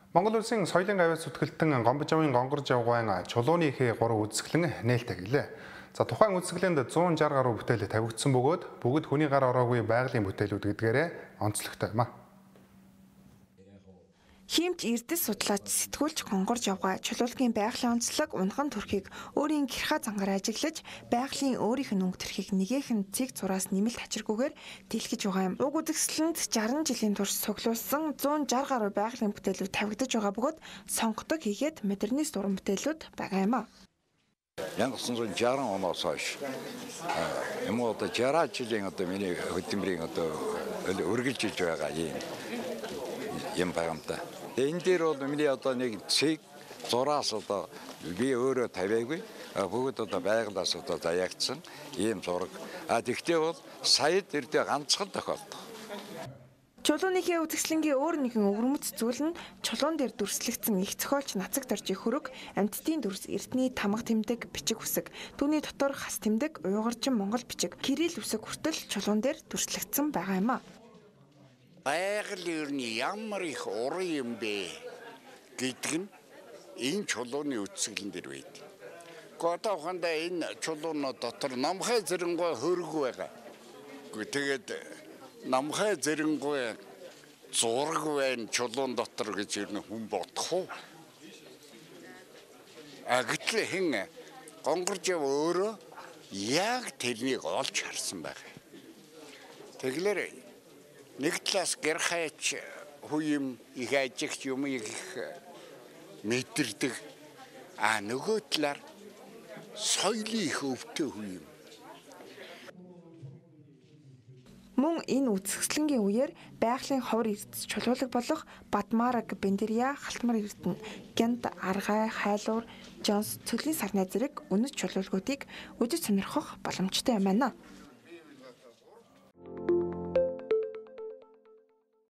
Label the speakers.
Speaker 1: Монгол улсын соёлын гавьяас зүтгэлтэн Гомбожовын гонгорж явган чулууны ихээ 3 үзэсгэлэн нээлттэй гэлээ. За тухайн үзэсгэлэнд 160 гаруй бүтээл тавигдсан бөгөөд бүгд хүний гар ороогүй байгалийн бүтээлүүд гэдгээрээ онцлогтой юм а.
Speaker 2: Химч эрдэс судлаач сэтгүүлч гонгорж явгаа чулуулгын байгалийн онцлог унхан төрхийг өөрийн гэрхаа зангаар ажиглаж байгалийн өөрийнх нь өнгө төрхийг нэгэн цэг зураас нэмэлт хачиргүйгээр дэлгэж байгаа юм. Уг үзэсгэлэнд 60 жилийн турш цуглуулсан 160 гаруй байгалийн бүтээлүүд тавигдаж байгаа бөгөөд сонгодог хийгээд модернист уран бүтээлүүд байгаа юм а.
Speaker 3: 1960 оноос хойш юм уу одоо 60 жилийн одоо миний хөдөлмөрийн одоо үргэлжилж байгаа юм байгаа юм та. Энэ дээр бол миний одоо нэг цэг зураас одоо би өөрөө тавиагүй бүгд одоо байгалаас одоо заяагдсан ийм зураг. Тэгтээ бол саяд эрдээ ганцхан тохиолдох.
Speaker 2: Чулууныхээ үзэсгэлэнгийн өөр нэгэн өвөрмөц зүйл нь чулуун дээр дүрслэгдсэн их зохиолч нацаг доржийн хөрөг, амьтдын дүрс, эрдний тамга тэмдэг, бичиг үсэг, түүний дотор хас тэмдэг, уйгурчин монгол бичиг, кирилл үсэг хүртэл чулуун дээр дүрслэгдсэн байгаа юм а.
Speaker 4: Байгаль ер нь ямар их уран юм бэ гэдэг нь энэ чулууны үзэсгэлэн дээр байдаг. Гэхдээ ухаандаа энэ чулуунууд дотор намхай зэрэнгуй хөрөг байгаа. Тэгээд намхай зэрэнгуй зураг байна чулуун дотор гэж ер нь хүн бодох уу? Гэтэл хэн гонгорж өөрөө яг тэрнийг олж харсан байгаа. Тэгэлэр нэг талаас гэр хайч хүн их ажигч юм их мэдэрдэг. Нөгөө талаар соёлын их өвтэй хүн юм.
Speaker 2: Мөн энэ үзэсгэлэнгийн үеэр байгалийн ховор эрдэс чулуулаг болох Бадмараг, Бендерия, Халтмар эрдэнэ, Гянд, Аргай, Хайлуур, Жонс, Цөлийн сарнай зэрэг үнэт чулуулгуудыг үзэж сонирхох боломжтой юм байна.